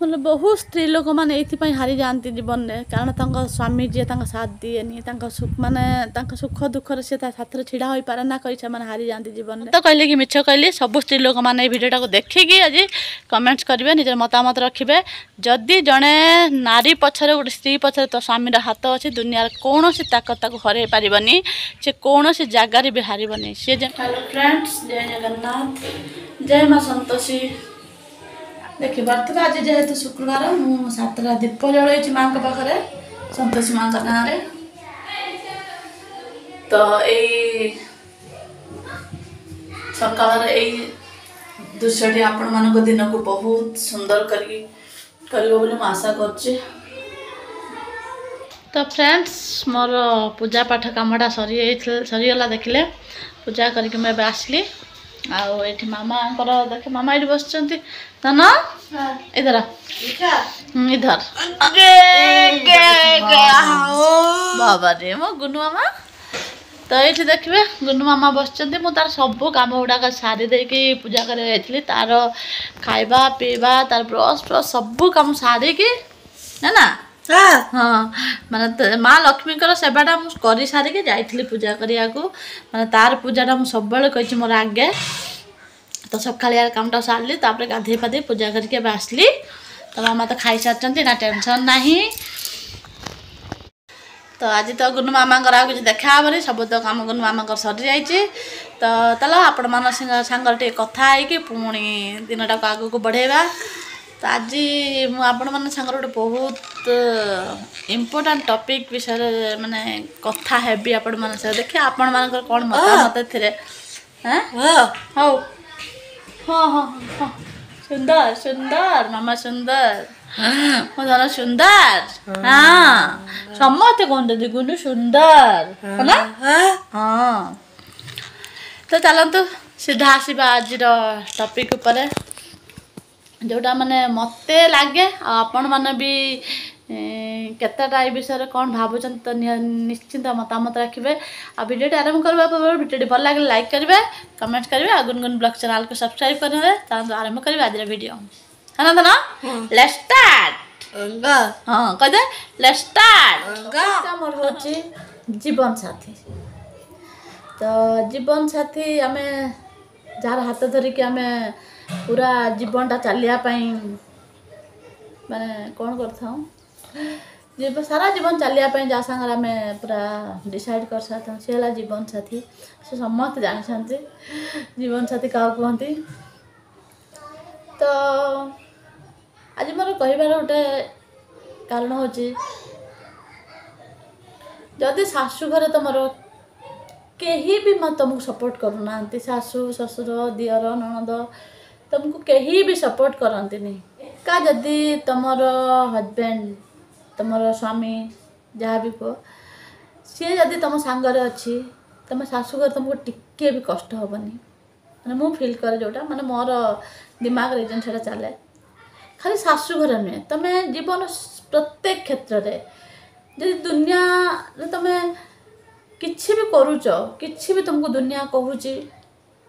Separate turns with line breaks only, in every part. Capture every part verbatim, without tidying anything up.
ମାନେ ବହୁତ ସ୍ତ୍ରୀ ଲୋକମାନେ ଏଇଥିପାଇଁ ହାରିଯାଆନ୍ତି ଜୀବନରେ, କାରଣ ତାଙ୍କ ସ୍ୱାମୀ ଯିଏ ତାଙ୍କ ସାଥ ଦିଏନି, ତାଙ୍କ ମାନେ ତାଙ୍କ ସୁଖ ଦୁଃଖରେ ସେ ତା ସାଥିରେ ଛିଡ଼ା ହୋଇପାରେ ନା କରି ସେମାନେ ହାରିଯାଆନ୍ତି ଜୀବନରେ। ତ କହିଲେ କି ମିଛ କହିଲି? ସବୁ ସ୍ତ୍ରୀ ଲୋକମାନେ ଏଇ ଭିଡ଼ିଓଟାକୁ ଦେଖିକି ଆଜି କମେଣ୍ଟସ୍ କରିବେ, ନିଜର ମତାମତ ରଖିବେ। ଯଦି ଜଣେ ନାରୀ ପଛରେ, ଗୋଟେ ସ୍ତ୍ରୀ ପଛରେ ତ ସ୍ୱାମୀର ହାତ ଅଛି, ଦୁନିଆର କୌଣସି ତାକତ ତାକୁ ହରାଇ ପାରିବନି, ସେ କୌଣସି ଜାଗାରେ ବି ହାରିବନି ସିଏ। ହ୍ୟାଲୋ ଫ୍ରେଣ୍ଡସ୍, ଜୟ ଜଗନ୍ନାଥ, ଜୟ ମା ସନ୍ତୋଷୀ। ଦେଖିପାରୁଥିବେ, ଆଜି ଯେହେତୁ ଶୁକ୍ରବାର, ମୁଁ ସାତଟା ଦୀପ ଜଳେଇଛି ମାଙ୍କ ପାଖରେ, ସନ୍ତୋଷୀ ମାଙ୍କ ନାଁରେ। ତ ଏଇ ସକାଳର ଏଇ ଦୃଶ୍ୟଟି ଆପଣମାନଙ୍କ ଦିନକୁ ବହୁତ ସୁନ୍ଦର କରିକି କରିବ ବୋଲି ମୁଁ ଆଶା କରୁଛି। ତ ଫ୍ରେଣ୍ଡସ୍, ମୋର ପୂଜା ପାଠ କାମଟା ସରିଯାଇଥିଲା, ସରିଗଲା। ଦେଖିଲେ, ପୂଜା କରିକି ମୁଁ ଏବେ ଆସିଲି। ଆଉ ଏଇଠି ମାମାଙ୍କର ଦେଖେ, ମାମା ଏଇଠି ବସିଛନ୍ତି। ଧନ, ଇଧର ଇଧର। ବାବାରେ, ମୋ ଗୁନୁ ମାମା। ତ ଏଇଠି ଦେଖିବେ, ଗୁନୁ ମାମା ବସିଛନ୍ତି। ମୁଁ ତାର ସବୁ କାମ ଗୁଡ଼ାକ ସାରି ଦେଇକି ପୂଜା କରିବାକୁ ଯାଇଥିଲି। ତାର ଖାଇବା ପିଇବା, ତାର ବ୍ରସ୍ ଫ୍ରସ୍ ସବୁ କାମ ସାରିକି, ନା ନା ହଁ, ମାନେ ମା ଲକ୍ଷ୍ମୀଙ୍କର ସେବାଟା ମୁଁ କରିସାରିକି ଯାଇଥିଲି ପୂଜା କରିବାକୁ। ମାନେ ତାର ପୂଜାଟା ମୁଁ ସବୁବେଳେ କହିଛି ମୋର ଆଗେ। ତ ସକାଳିଆ କାମଟା ସାରିଲି, ତାପରେ ଗାଧେଇ ପାଧେଇ ପୂଜା କରିକି ଏବେ ଆସିଲି। ତ ମାମା ତ ଖାଇସାରିଛନ୍ତି ନା, ଟେନସନ୍ ନାହିଁ। ତ ଆଜି ତ ଗୁନୁ ମାମାଙ୍କର ଆଉ କିଛି ଦେଖା ହେବନି, ସବୁ ତ କାମ ଗୁନୁ ମାମାଙ୍କର ସରିଯାଇଛି। ତ ଚାଲ, ଆପଣମାନଙ୍କ ସାଙ୍ଗରେ ଟିକେ କଥା ହେଇକି ପୁଣି ଦିନଟାକୁ ଆଗକୁ ବଢ଼େଇବା। ତ ଆଜି ମୁଁ ଆପଣମାନଙ୍କ ସାଙ୍ଗରେ ଗୋଟେ ବହୁତ ଇମ୍ପୋର୍ଟାଣ୍ଟ ଟପିକ୍ ବିଷୟରେ ମାନେ କଥା ହେବି ଆପଣମାନଙ୍କ ସହ। ଦେଖିବା ଆପଣମାନଙ୍କର କ'ଣ ମତାମତ ଏଥିରେ। ହଉ, ହଁ ହଁ ହଁ, ସୁନ୍ଦର ସୁନ୍ଦର ମାମା, ସୁନ୍ଦର, ମୋ ଧନ ସୁନ୍ଦର। ହଁ, ସମସ୍ତେ କହୁଛନ୍ତି ଗୁନୁ ସୁନ୍ଦର ହେଲା। ହଁ, ତ ଚାଲନ୍ତୁ ସିଧା ଆସିବା ଆଜିର ଟପିକ୍ ଉପରେ, ଯେଉଁଟା ମାନେ ମୋତେ ଲାଗେ ଆଉ ଆପଣମାନେ ବି କେତେଟା ଏ ବିଷୟରେ କ'ଣ ଭାବୁଛନ୍ତି, ତ ନିଶ୍ଚିନ୍ତ ମତାମତ ରଖିବେ। ଆଉ ଭିଡ଼ିଓଟି ଆରମ୍ଭ କରିବା ପୂର୍ବରୁ, ଭିଡ଼ିଓଟି ଭଲ ଲାଗିଲେ ଲାଇକ୍ କରିବେ, କମେଣ୍ଟ କରିବେ ଆଉ ଗୁନଗୁନ ବ୍ଲଗ୍ ଚ୍ୟାନେଲକୁ ସବସ୍କ୍ରାଇବ୍ କରିବେ। ଚାଲନ୍ତୁ ଆରମ୍ଭ କରିବା ଆଜିର ଭିଡ଼ିଓ। ହଁ ଧନ, let's start. ହଁ, କହିଦେ, let's start. ମୋର ହେଉଛି ଜୀବନ ସାଥୀ। ତ ଜୀବନ ସାଥୀ, ଆମେ ଯାହାର ହାତ ଧରିକି ଆମେ ପୁରା ଜୀବନଟା ଚାଲିବା ପାଇଁ ମାନେ କ'ଣ କରିଥାଉ, ଜୀବ ସାରା ଜୀବନ ଚାଲିବା ପାଇଁ ଯାହା ସାଙ୍ଗରେ ଆମେ ପୁରା ଡିସାଇଡ଼୍ କରିସାରିଥାଉ, ସେ ହେଲା ଜୀବନ ସାଥୀ। ସେ ସମସ୍ତେ ଜାଣିଛନ୍ତି ଜୀବନ ସାଥୀ କାହାକୁ କୁହନ୍ତି। ତ ଆଜି ମୋର କହିବାର ଗୋଟେ କାରଣ ହେଉଛି, ଯଦି ଶାଶୁଘରେ ତୁମର କେହି ବି ତୁମକୁ ସପୋର୍ଟ କରୁନାହାନ୍ତି, ଶାଶୁ ଶ୍ୱଶୁର ଦିଅର ନଣନ୍ଦ ତୁମକୁ କେହି ବି ସପୋର୍ଟ କରନ୍ତିନି, ଏକା ଯଦି ତୁମର ହଜବେଣ୍ଡ, ତୁମର ସ୍ୱାମୀ, ଯାହା ବି କୁହ, ସିଏ ଯଦି ତୁମ ସାଙ୍ଗରେ ଅଛି, ତୁମ ଶାଶୁଘରେ ତୁମକୁ ଟିକିଏ ବି କଷ୍ଟ ହେବନି। ମାନେ ମୁଁ ଫିଲ୍ କରେ ଯେଉଁଟା, ମାନେ ମୋର ଦିମାଗରେ ଏଇ ଜିନିଷଟା ଚାଲେ। ଖାଲି ଶାଶୁଘରେ ନୁହେଁ, ତୁମେ ଜୀବନ ପ୍ରତ୍ୟେକ କ୍ଷେତ୍ରରେ ଯଦି ଦୁନିଆରେ ତୁମେ କିଛି ବି କରୁଛ, କିଛି ବି ତୁମକୁ ଦୁନିଆ କହୁଛି,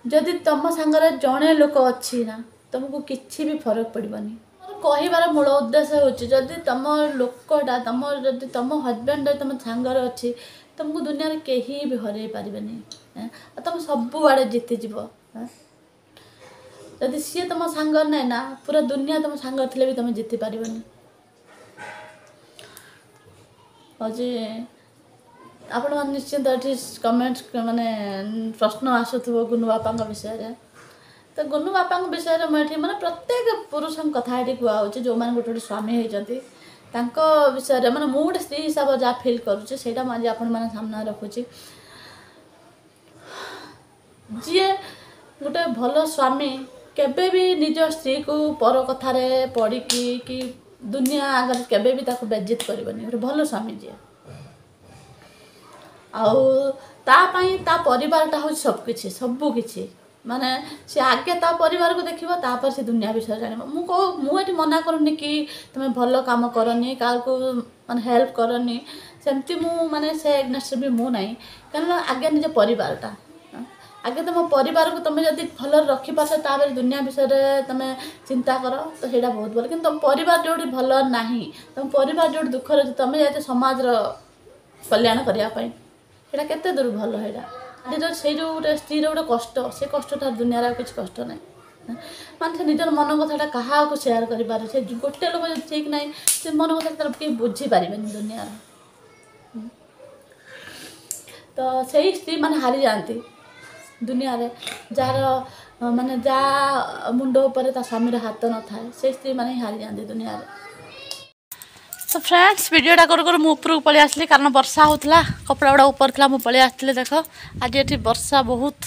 ଯଦି ତୁମ ସାଙ୍ଗରେ ଜଣେ ଲୋକ ଅଛି ନା, ତୁମକୁ କିଛି ବି ଫରକ ପଡ଼ିବନି। ମୋର କହିବାର ମୂଳ ଉଦ୍ଦେଶ୍ୟ ହେଉଛି, ଯଦି ତୁମ ଲୋକଟା ତୁମ ଯଦି ତୁମ ହଜବେଣ୍ଡ ତୁମ ସାଙ୍ଗରେ ଅଛି, ତୁମକୁ ଦୁନିଆରେ କେହି ବି ହରେଇ ପାରିବେନି ଆଉ ତୁମେ ସବୁଆଡ଼େ ଜିତିଯିବ। ଯଦି ସିଏ ତୁମ ସାଙ୍ଗରେ ନାହିଁ ନା, ପୁରା ଦୁନିଆ ତୁମ ସାଙ୍ଗରେ ଥିଲେ ବି ତୁମେ ଜିତି ପାରିବନି। ହେଉଛି ଆପଣମାନେ ନିଶ୍ଚିନ୍ତ ଏଠି କମେଣ୍ଟ ମାନେ ପ୍ରଶ୍ନ ଆସୁଥିବ ଗୁନୁ ବାପାଙ୍କ ବିଷୟରେ। ତ ଗୁନୁ ବାପାଙ୍କ ବିଷୟରେ ମୁଁ ଏଠି ମାନେ ପ୍ରତ୍ୟେକ ପୁରୁଷଙ୍କ କଥା ଏଠି କୁହାହେଉଛି, ଯେଉଁମାନେ ଗୋଟେ ଗୋଟେ ସ୍ୱାମୀ ହେଇଛନ୍ତି ତାଙ୍କ ବିଷୟରେ। ମାନେ ମୁଁ ଗୋଟେ ସ୍ତ୍ରୀ ହିସାବରେ ଯାହା ଫିଲ୍ କରୁଛି, ସେଇଟା ମୁଁ ଆଜି ଆପଣମାନଙ୍କ ସାମ୍ନାରେ ରଖୁଛି। ଯିଏ ଗୋଟେ ଭଲ ସ୍ୱାମୀ, କେବେ ବି ନିଜ ସ୍ତ୍ରୀକୁ ପର କଥାରେ ପଡ଼ିକି କି ଦୁନିଆ ଆଗରେ କେବେ ବି ତାକୁ ବେଜିତ କରିବନି, ଗୋଟେ ଭଲ ସ୍ୱାମୀ ଯିଏ। ଆଉ ତା ପାଇଁ ତା ପରିବାରଟା ହେଉଛି ସବୁକିଛି, ସବୁକିଛି। ମାନେ ସେ ଆଗେ ତା ପରିବାରକୁ ଦେଖିବ, ତାପରେ ସେ ଦୁନିଆ ବିଷୟରେ ଜାଣିବ। ମୁଁ କହୁ, ମୁଁ ଏଠି ମନା କରୁନି କି ତୁମେ ଭଲ କାମ କରନି, କାହାକୁ ମାନେ ହେଲ୍ପ କରନି, ସେମିତି ମୁଁ ମାନେ ସେ ଏଗନେଷ୍ଟରେ ବି ମୁଁ ନାହିଁ। କାରଣ ଆଗେ ନିଜ ପରିବାରଟା, ଆଗେ ତୁମ ପରିବାରକୁ ତୁମେ ଯଦି ଭଲରେ ରଖିପାରୁଛ, ତାପରେ ଦୁନିଆ ବିଷୟରେ ତୁମେ ଚିନ୍ତା କର, ତ ସେଇଟା ବହୁତ ଭଲ। କିନ୍ତୁ ତୁମ ପରିବାର ଯେଉଁଠି ଭଲ ନାହିଁ, ତୁମ ପରିବାର ଯେଉଁଠି ଦୁଃଖରେ ଅଛି, ତୁମେ ଯାଇଛ ସମାଜର କଲ୍ୟାଣ କରିବା ପାଇଁ, ସେଇଟା କେତେ ଦୂର ଭଲ? ସେଇଟା ଆଜିର ସେଇ ଯେଉଁ ଗୋଟେ ସ୍ତ୍ରୀର ଗୋଟେ କଷ୍ଟ, ସେ କଷ୍ଟଟା ଦୁନିଆରେ ଆଉ କିଛି କଷ୍ଟ ନାହିଁ। ମାନେ ସେ ନିଜର ମନ କଥାଟା କାହାକୁ ସେୟାର କରିପାରେ? ସେ ଗୋଟେ ଲୋକ ଯଦି ଠିକ୍ ନାହିଁ, ସେ ମନ କଥା ତାର କେହି ବୁଝିପାରିବେନି ଦୁନିଆର। ତ ସେଇ ସ୍ତ୍ରୀ ମାନେ ହାରିଯାଆନ୍ତି ଦୁନିଆରେ। ଯାହାର ମାନେ ଯାହା ମୁଣ୍ଡ ଉପରେ ତା ସ୍ୱାମୀର ହାତ ନଥାଏ, ସେଇ ସ୍ତ୍ରୀ ମାନେ ହିଁ ହାରିଯାଆନ୍ତି ଦୁନିଆରେ। ତ ଫ୍ରେଣ୍ଡସ୍, ଭିଡ଼ିଓଟା କରୁ କରୁ ମୁଁ ଉପରକୁ ପଳେଇ ଆସିଲି, କାରଣ ବର୍ଷା ହେଉଥିଲା, କପଡ଼ା ଗୁଡ଼ା ଉପରେ ଥିଲା, ମୁଁ ପଳେଇ ଆସିଥିଲି। ଦେଖ, ଆଜି ଏଠି ବର୍ଷା ବହୁତ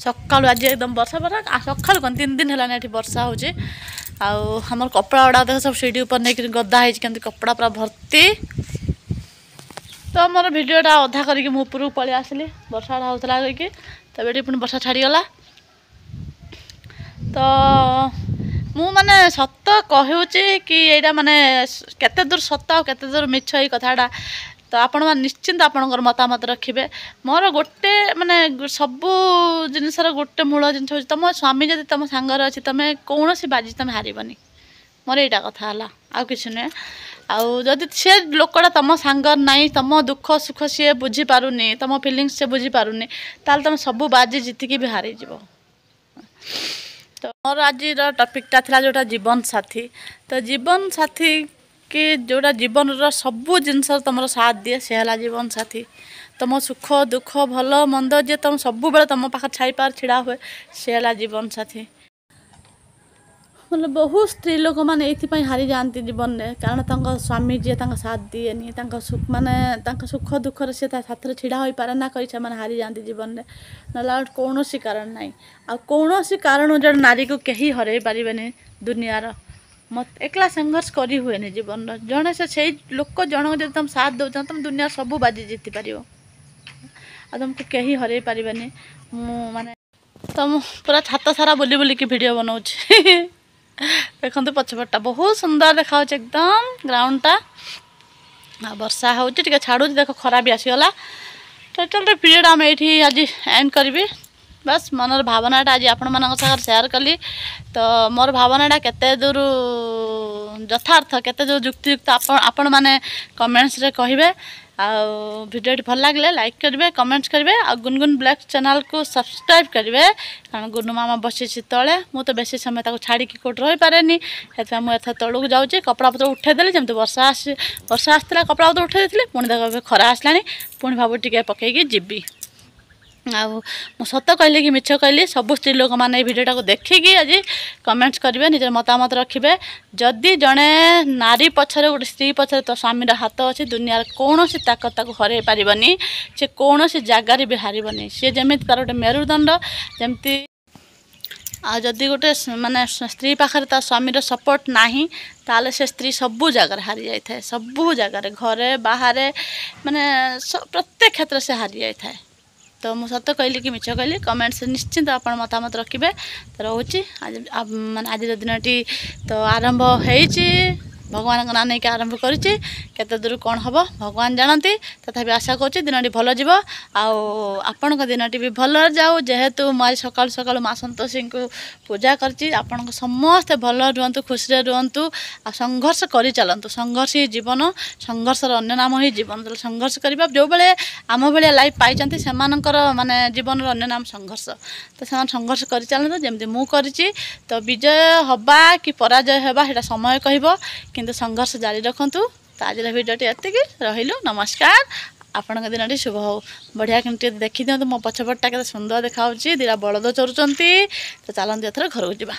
ସକାଳୁ, ଆଜି ଏକଦମ ବର୍ଷା ବର୍ଷା ସକାଳୁ କ'ଣ, ତିନି ଦିନ ହେଲାଣି ଏଠି ବର୍ଷା ହେଉଛି। ଆଉ ଆମର କପଡ଼ା ଗୁଡ଼ା ଦେଖ, ସବୁ ସିଡ଼ି ଉପରେ ନେଇକିରି ଗଦା ହେଇଛି କେମିତି, କପଡ଼ା ପୁରା ଭର୍ତ୍ତି। ତ ମୋର ଭିଡ଼ିଓଟା ଅଧା କରିକି ମୁଁ ଉପରକୁ ପଳେଇ ଆସିଲି, ବର୍ଷାଟା ହେଉଥିଲା କହିକି। ତ ଏଠି ପୁଣି ବର୍ଷା ଛାଡ଼ିଗଲା। ତ ମୁଁ ମାନେ ସତ କହୁଛି କି ଏଇଟା ମାନେ କେତେ ଦୂର ସତ ଆଉ କେତେ ଦୂର ମିଛ ଏଇ କଥାଟା, ତ ଆପଣମାନେ ନିଶ୍ଚିନ୍ତ ଆପଣଙ୍କର ମତାମତ ରଖିବେ। ମୋର ଗୋଟେ ମାନେ ସବୁ ଜିନିଷର ଗୋଟେ ମୂଳ ଜିନିଷ ହେଉଛି, ତୁମ ସ୍ୱାମୀ ଯଦି ତୁମ ସାଙ୍ଗରେ ଅଛି, ତୁମେ କୌଣସି ବାଜି ତୁମେ ହାରିବନି। ମୋର ଏଇଟା କଥା ହେଲା, ଆଉ କିଛି ନୁହେଁ। ଆଉ ଯଦି ସେ ଲୋକଟା ତୁମ ସାଙ୍ଗରେ ନାହିଁ, ତୁମ ଦୁଃଖ ସୁଖ ସିଏ ବୁଝିପାରୁନି, ତୁମ ଫିଲିଙ୍ଗସ୍ ସେ ବୁଝିପାରୁନି, ତାହେଲେ ତୁମେ ସବୁ ବାଜି ଜିତିକି ବି ହାରିଯିବ। ତ ମୋର ଆଜିର ଟପିକ୍ଟା ଥିଲା ଯେଉଁଟା ଜୀବନ ସାଥୀ। ତ ଜୀବନ ସାଥୀ କି ଯେଉଁଟା ଜୀବନର ସବୁ ଜିନିଷ ତୁମର ସାଥ ଦିଏ, ସେ ହେଲା ଜୀବନ ସାଥୀ। ତୁମ ସୁଖ ଦୁଃଖ ଭଲ ମନ୍ଦ ଯିଏ ତୁମ ସବୁବେଳେ ତୁମ ପାଖରେ ଛାଇପାର ଛିଡ଼ା ହୁଏ, ସେ ହେଲା ଜୀବନ ସାଥୀ। ମାନେ ବହୁତ ସ୍ତ୍ରୀ ଲୋକମାନେ ଏଇଥିପାଇଁ ହାରିଯାଆନ୍ତି ଜୀବନରେ, କାରଣ ତାଙ୍କ ସ୍ୱାମୀ ଯିଏ ତାଙ୍କ ସାଥ ଦିଏନି, ତାଙ୍କ ମାନେ ତାଙ୍କ ସୁଖ ଦୁଃଖରେ ସେ ତା ସାଥିରେ ଛିଡ଼ା ହୋଇପାରେ ନା କରି ସେମାନେ ହାରିଯାଆନ୍ତି ଜୀବନରେ। ନହେଲେ ଆଉ କୌଣସି କାରଣ ନାହିଁ। ଆଉ କୌଣସି କାରଣ ଜଣେ ନାରୀକୁ କେହି ହରାଇ ପାରିବେନି ଦୁନିଆର। ମୋତେ ଏକଲା ସଂଘର୍ଷ କରି ହୁଏନି ଜୀବନର। ଜଣେ ସେ ସେଇ ଲୋକ ଜଣକୁ ଯଦି ତୁମେ ସାଥ ଦେଉଛ, ତୁମେ ଦୁନିଆ ସବୁ ବାଜି ଜିତିପାରିବ, ଆଉ ତୁମକୁ କେହି ହରାଇ ପାରିବେନି। ମୁଁ ମାନେ ତ ମୁଁ ପୁରା ଛାତ ସାରା ବୁଲି ବୁଲିକି ଭିଡ଼ିଓ ବନାଉଛି। ଦେଖନ୍ତୁ, ପଛପଟଟା ବହୁତ ସୁନ୍ଦର ଦେଖାଯାଉଛି ଏକଦମ ଗ୍ରାଉଣ୍ଡଟା। ଆଉ ବର୍ଷା ହେଉଛି, ଟିକେ ଛାଡ଼ୁଛି, ଦେଖ ଖରା ବି ଆସିଗଲା। ଟୋଟାଲ ପିରିୟଡ଼ ଆମେ ଏଇଠି ଆଜି ଏଣ୍ଡ କରିବି। ବାସ୍, ମନର ଭାବନାଟା ଆଜି ଆପଣମାନଙ୍କ ସାଙ୍ଗରେ ସେୟାର କଲି। ତ ମୋର ଭାବନାଟା କେତେ ଦୂର ଯଥାର୍ଥ, କେତେ ଦୂର ଯୁକ୍ତିଯୁକ୍ତ, ଆପଣ ଆପଣମାନେ କମେଣ୍ଟସରେ କହିବେ। ଆଉ ଭିଡ଼ିଓଟି ଭଲ ଲାଗିଲେ ଲାଇକ୍ କରିବେ, କମେଣ୍ଟସ୍ କରିବେ ଆଉ ଗୁନଗୁନ ବ୍ଲଗ୍ ଚ୍ୟାନେଲ୍କୁ ସବସ୍କ୍ରାଇବ୍ କରିବେ। କାରଣ ଗୁନୁ ମାମା ବସିଛି ତଳେ, ମୁଁ ତ ବେଶୀ ସମୟ ତାକୁ ଛାଡ଼ିକି କେଉଁଠି ରହିପାରେନି, ସେଥିପାଇଁ ମୁଁ ଏଥର ତଳକୁ ଯାଉଛି। କପଡ଼ା ପତ୍ର ଉଠେଇଦେଲି, ଯେମିତି ବର୍ଷା ଆସି ବର୍ଷା ଆସିଥିଲା କପଡ଼ା ପତ୍ର ଉଠେଇ ଦେଇଥିଲି, ପୁଣି ଦେଖ ଏବେ ଖରା ଆସିଲାଣି, ପୁଣି ଭାବୁ ଟିକେ ପକେଇକି ଯିବି। ଆଉ ମୁଁ ସତ କହିଲି କି ମିଛ କହିଲି, ସବୁ ସ୍ତ୍ରୀ ଲୋକମାନେ ଏଇ ଭିଡ଼ିଓଟାକୁ ଦେଖିକି ଆଜି କମେଣ୍ଟସ୍ କରିବେ, ନିଜର ମତାମତ ରଖିବେ। ଯଦି ଜଣେ ନାରୀ ପଛରେ, ଗୋଟେ ସ୍ତ୍ରୀ ପଛରେ ତ ସ୍ୱାମୀର ହାତ ଅଛି, ଦୁନିଆର କୌଣସି ତାକତ ତାକୁ ହରାଇ ପାରିବନି, ସେ କୌଣସି ଜାଗାରେ ବି ହାରିବନି। ସିଏ ଯେମିତି ତାର ଗୋଟେ ମେରୁଦଣ୍ଡ ଯେମିତି। ଆଉ ଯଦି ଗୋଟେ ମାନେ ସ୍ତ୍ରୀ ପାଖରେ ତା ସ୍ୱାମୀର ସପୋର୍ଟ ନାହିଁ, ତାହେଲେ ସେ ସ୍ତ୍ରୀ ସବୁ ଜାଗାରେ ହାରି ଯାଇଥାଏ, ସବୁ ଜାଗାରେ, ଘରେ ବାହାରେ, ମାନେ ପ୍ରତ୍ୟେକ କ୍ଷେତ୍ରରେ ସେ ହାରି ଯାଇଥାଏ। ତ ମୁଁ ସତ କହିଲି କି ମିଛ କହିଲି, କମେଣ୍ଟସରେ ନିଶ୍ଚିନ୍ତ ଆପଣ ମତାମତ ରଖିବେ। ତ ରହୁଛି ଆଜି, ମାନେ ଆଜିର ଦିନଟି ତ ଆରମ୍ଭ ହେଇଛି, ଭଗବାନଙ୍କ ନାଁ ନେଇକି ଆରମ୍ଭ କରିଛି। କେତେ ଦୂର କ'ଣ ହେବ ଭଗବାନ ଜାଣନ୍ତି, ତଥାପି ଆଶା କରୁଛି ଦିନଟି ଭଲ ଯିବ ଆଉ ଆପଣଙ୍କ ଦିନଟି ବି ଭଲରେ ଯାଉ। ଯେହେତୁ ମୁଁ ଆଜି ସକାଳୁ ସକାଳୁ ମା ସନ୍ତୋଷୀଙ୍କୁ ପୂଜା କରିଛି, ଆପଣଙ୍କ ସମସ୍ତେ ଭଲ ରୁହନ୍ତୁ, ଖୁସିରେ ରୁହନ୍ତୁ ଆଉ ସଂଘର୍ଷ କରି ଚାଲନ୍ତୁ। ସଂଘର୍ଷ ହିଁ ଜୀବନ, ସଂଘର୍ଷର ଅନ୍ୟ ନାମ ହିଁ ଜୀବନ। ତାହେଲେ ସଂଘର୍ଷ କରିବା, ଯେଉଁବେଳେ ଆମ ଭଳିଆ ଲାଇଫ୍ ପାଇଛନ୍ତି ସେମାନଙ୍କର ମାନେ ଜୀବନର ଅନ୍ୟ ନାମ ସଂଘର୍ଷ। ତ ସେମାନେ ସଂଘର୍ଷ କରି ଚାଲନ୍ତୁ ଯେମିତି ମୁଁ କରିଛି। ତ ବିଜୟ ହେବା କି ପରାଜୟ ହେବା ସେଇଟା ସମୟ କହିବ, କିନ୍ତୁ ସଂଘର୍ଷ ଜାରି ରଖନ୍ତୁ। ତ ଆଜିର ଭିଡ଼ିଓଟି ଏତିକି ରହିଲୁ, ନମସ୍କାର, ଆପଣଙ୍କ ଦିନଟି ଶୁଭ ହେଉ। ବଢ଼ିଆ କେମିତି ଟିକେ ଦେଖିଦିଅନ୍ତୁ ମୋ ପଛପଟଟା କେତେ ସୁନ୍ଦର ଦେଖାହେଉଛି, ଦୁଇଟା ବଳଦ ଚରୁଛନ୍ତି। ତ ଚାଲନ୍ତୁ ଏଥର ଘରକୁ ଯିବା।